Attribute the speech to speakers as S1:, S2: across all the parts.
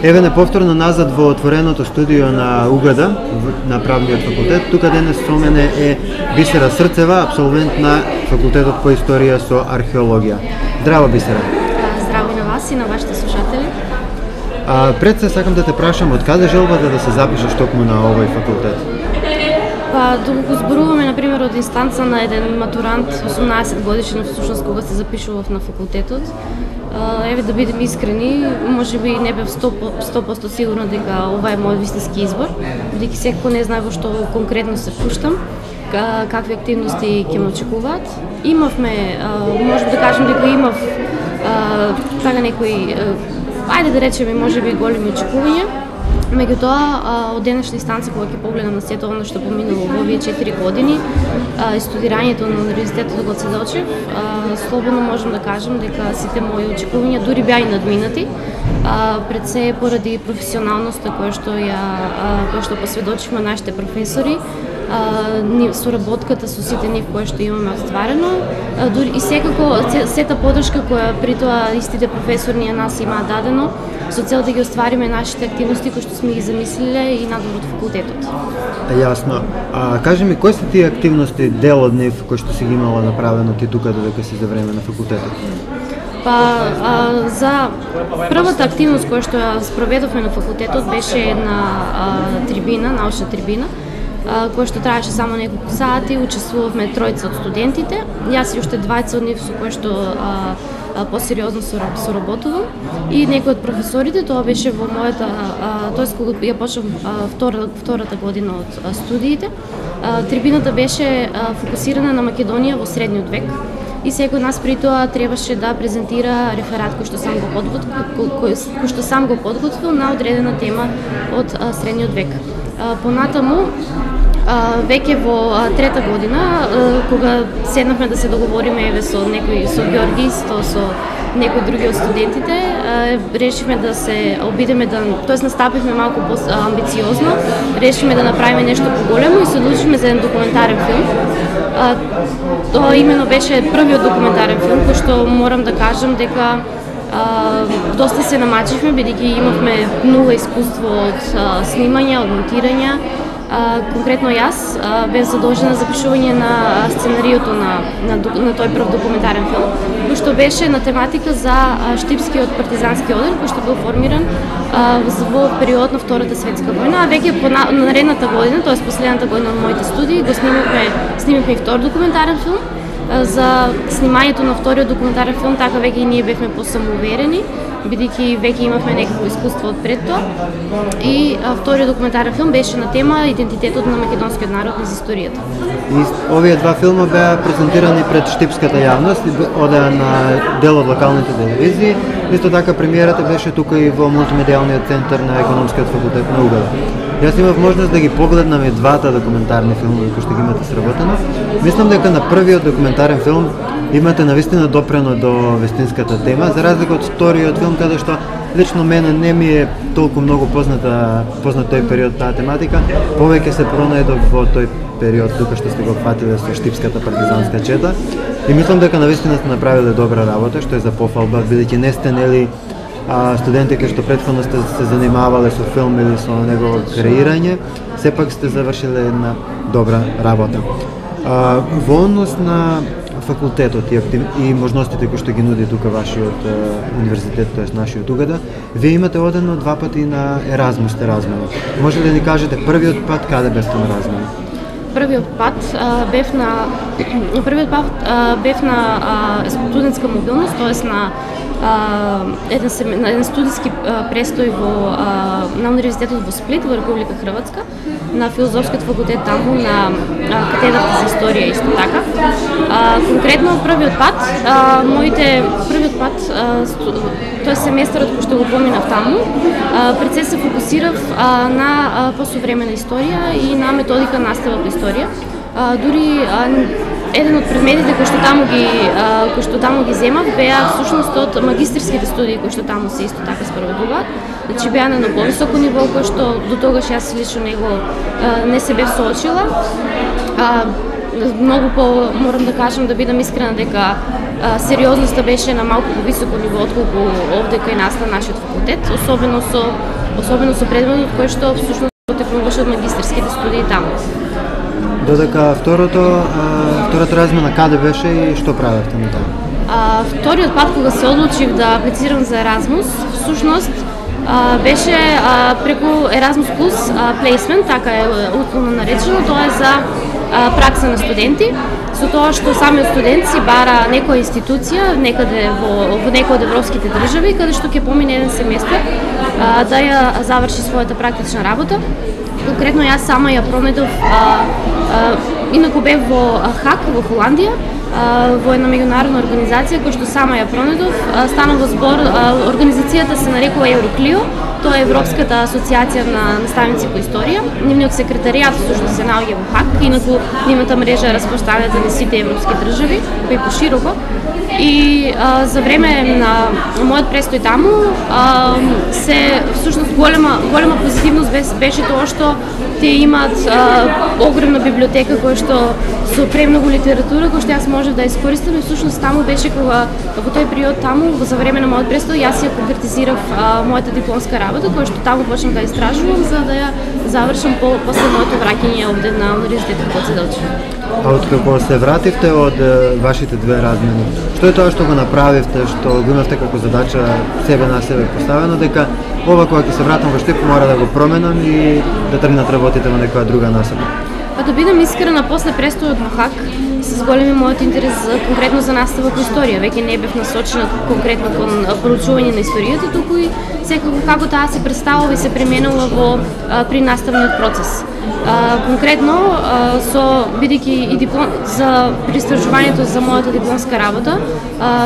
S1: Еве не повторно назад во отвореното студио на УГД, на правниот факултет. Тука денес со мене е Бисера Срцева, абсолвент на факултетот по историја со археологија. Здраво, Бисера.
S2: Здраво и на вас и на вашите слушатели.
S1: Пред се сакам да те прашам, од каде желбата да се запишеш токму на овој факултет?
S2: Да го зборуваме, например, од инстанца на еден матурант, 18 годишен, всушност кога се запишував на факултетот. Еве, да бидем искрени, може би не бев 100% сигурна дека ова е мојот вистински избор, бидејќи секој не знае во што конкретно се пуштам, какви активности ќе ме очекуваат. Имавме, можем да кажем дека имав така некои, ајде да речеме, може би големи очекувања. Меѓутоа, од денешна инстанца, кога ќе погледам на сето оно што поминало во овие 4 години и студирањето на универзитетот го Седочев, слободно можам да кажам дека сите мои очекувања дури беа и надминати, пред се поради професионалноста која што посведочивме нашите професори, соработката со сите нив која што имаме остварено, дури и секако сета подршка која при тоа истите професори ни нас имаат дадено, со цел да ги оствариме нашите активности кои што сме ги замислиле и надвор од факултетот.
S1: Јасно. Кажи ми, кои се тие активности, дел од нив, кои што си ги имала направено ти тука додека си за време на факултетот?
S2: За првата активност која што ја спроведовме на факултетот беше една трибина, научна трибина, која што траеше само неколку сати, учествувавме тројца од студентите, јас и уште двајца од нив со кои што посериозно соработувам и некои од професорите. Тоа беше во мојата, тоест кога ја почнав втората година од студиите. Трибината беше фокусирана на Македонија во средниот век и секој од нас при тоа требаше да презентира реферат кој што сам го подготвил на одредена тема од средниот век. Понатаму, веќе во трета година, кога седнавме да се договориме еве со Георги, со некои други од студентите, решивме да се обидеме тоест настапивме малку по-амбициозно, решивме да направиме нешто поголемо и се одлучивме за еден документарен филм. Тоа именно беше првиот документарен филм, кој што морам да кажам дека доста се намачивме, бидејќи имавме нула искуство од снимање, од монтирање. Конкретно јас бев задолжена за пишување на сценариото на тој прв документарен филм, кој што беше на тематика за штипскиот партизански одер, кој што бил формиран во период на Втората светска војна, а веќе по наредната година, тоест последната година на моите студии, го снимивме и втор документарен филм. За снимањето на вториот документарен филм така веќе и ние бевме посамоуверени, бидејќи веќе имавме некакво искуство од пред тоа. И вториот документарен филм беше на тема идентитетот на македонскиот народ низ историјата.
S1: И овие два филма беа презентирани пред штипската јавност, одеа на дел од локалните телевизии. Исто така премиерата беше тука и во мултимедијалниот центар на економскиот факултет на УГД. Јас имав можност да ги погледнам и двата документарни филмови кои што ги имате сработено. Мислам дека на првиот документарен филм имате навистина допрено до вистинската тема, за разлика од вториот филм, каде што лично мене не ми е толку многу познат тој период, таа тематика. Повеќе се пронајдов во тој период тука што сте го фатиле со штипската партизанска чета. И мислам дека навистина сте направиле добра работа, што е за пофалба, бидејќи не сте нели студенти кои што претходно сте се занимавале со филм или со негово креирање, сепак сте завршиле една добра работа. Во однос на факултетот и можностите кои што ги нуди тука вашиот универзитет, тоест нашиот УГД, вие имате одено 2 пати на Еразмус сте размена. Може ли да ни кажете првиот пат каде бевте на размена?
S2: Првиот пат бев на студентска мобилност, тоест на еден студиски престој на универзитетот во Сплит, во Република Хрватска, на филозофскиот факултет таму, на катедрата за историја исто така. Конкретно првиот пат, тоест семестарот кој што го поминав таму, пред се фокусирав на посовремена историја и на методика настава по историја. Дури еден од предметите кои што таму ги земав беа всушност од магистерските студии кои што таму се исто така спроведуваат. Значи беа на повисоко ниво кој што до тогаш јас лично него не се бев соочила. морам да кажам, да бидам искрена дека сериозноста беше на малку повисоко ниво отколку овде кај нас на нашиот факултет, особено со предметот кој што всушност текнуваше од магистерските студии таму.
S1: Додека втората размена каде беше и што правевте на таму?
S2: Вториот пат кога се одлучив да аплицирам за Еразмус, всушност беше преку Erasmus Plus Placement, така е условно наречено, тоа е за пракса на студенти, со тоа што самиот студент си бара некоја институција некаде во некој од европските држави, каде што ќе помине еден семестар да ја заврши својата практична работа. Конкретно јас сама ја пронедов, инаку бев во ХАК во Холандија, во една меѓународна организација која што сама ја пронедов. Станува збор, организацијата се нарекува Евроклио, тоа е Европската асоциација на наставници по историја. Нивниот секретаријат всушност се наоѓа во ХАК, инаку нивната мрежа е распространета на сите европски држави, па и пошироко. И за време на мојот престој таму всушност голема позитивност беше тоа што тие имаат огромна библиотека која што со премногу литература која што јас можев да искористам, и всушност таму беше кога во тој период таму за време на мојот престој јас ја конкретизирав мојата дипломска работа која што таму почнав да истражувам за да ја завршам после моето враќање овде на Универзитетот Гоце Делчев.
S1: А откако се вративте од вашите две размени, што е тоа што го направивте, што го имавте како задача себе на себе поставено, дека ова кога ќе се вратам во Штип мора да го променам и да тргнат работите во некоја друга насока?
S2: Па да бидам искрена, после престојот на ХАК се зголеми мојот интерес конкретно за настава по историја. Веќе не бев насочена конкретно кон проучување на историјата, туку и секако како таа се представува и се применува при наставниот процес. Конкретно бидејќи и за истражувањето за мојата дипломска работа,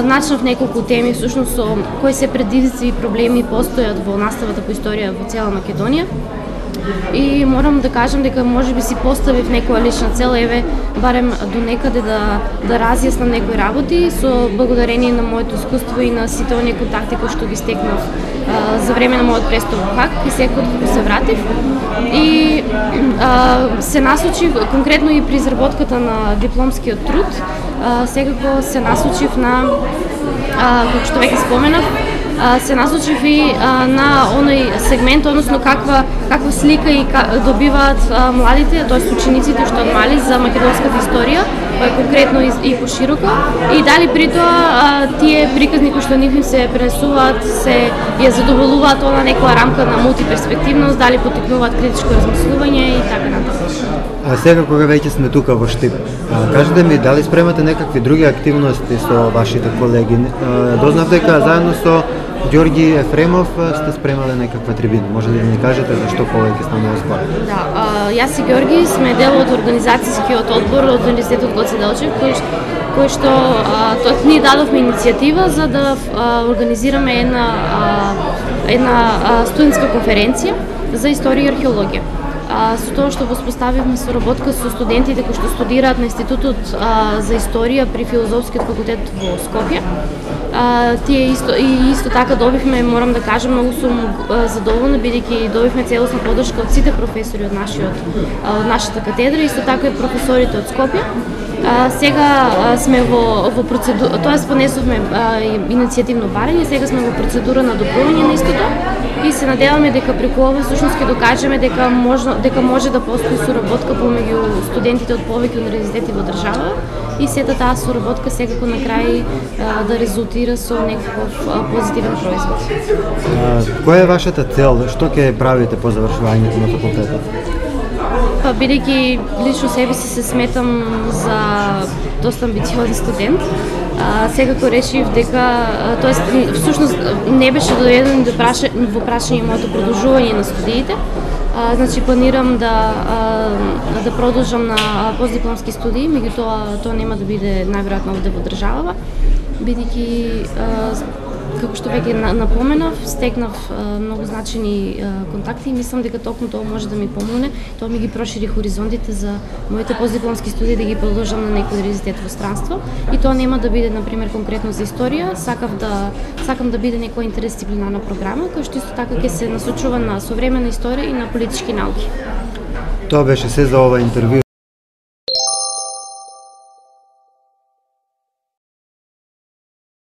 S2: начнав неколку теми всушност со кои се предизвици и проблеми постојат во наставата по историја во цела Македонија. И морам да кажам дека можеби си поставив некоја лична цел, барем до некаде да разјаснам некои работи со благодарение на моето искуство и на сите оние контакти кои што ги стекнав за време на мојот престој во ХАК и секогаш кога се вратив. И се насочив конкретно и при изработката на дипломскиот труд, секако се насочив на, како што веќе споменав, се насочив и на оној сегмент, односно каква слика и добиваат младите, тоест учениците што мали за македонската историја, конкретно и пошироко, и дали при тоа тие приказни кои што нив се пренесуваат се ја задоволуваат на некоја рамка на мултиперспективност, дали поттикнуваат критичко размислување и така натаму.
S1: А сега кога веќе сме тука во Штип, кажете ми дали спремате некакви други активности со вашите колеги? Дознав дека заедно со Ѓорги Ефремов сте спремале некаква трибина. Може ли да ни кажете за што повеќе станува збор?
S2: Да, јас и Ѓорги сме дел од организацијскиот одбор од Универзитетот Гоце Делчев, кој што ние дадовме иницијатива за да организираме една студентска конференција за историја и археологија. Со тоа што воспоставивме соработка со студентите кои што студираат на Институтот за историја при Филозофскиот факултет во Скопје. Тие исто така добивме, морам да кажам, многу сум задоволна бидејќи добивме целосна поддршка од сите професори од нашата катедра, исто така и професорите од Скопје. Сега сме во процедура, тоест понесовме иницијативно барање, сега сме во процедура на одобрување на истото и се надеваме дека преку ова всушност ќе докажеме дека може да постои соработка помеѓу студентите од повеќе универзитети во држава и сета таа соработка секако на крај да резултира со некаков позитивен производ.
S1: Која е вашата цел? Што ќе правите по завршувањето на факултетот?
S2: Па бидејќи лично себе си се сметам за доста амбициозен студент, секако решив дека, тоест всушност не беше доеден во прашање моето продолжување на студиите. Значи планирам да продолжам на постдипломски студии, меѓутоа тоа нема да биде најверојатно овде во државава, бидејќи како што веќе напоменав, стекнав многу значени контакти и мислам дека токму тоа може да ми помогне. Тоа ми ги прошири хоризонтите за моите постдипломски студии да ги продолжам на некој универзитет во странство. И тоа нема да биде, например, конкретно за историја, сакам да биде некоја интердисциплинарна програма, која што исто така ќе се насочува на современа историја и на политички науки.
S1: Тоа беше се за ова интервју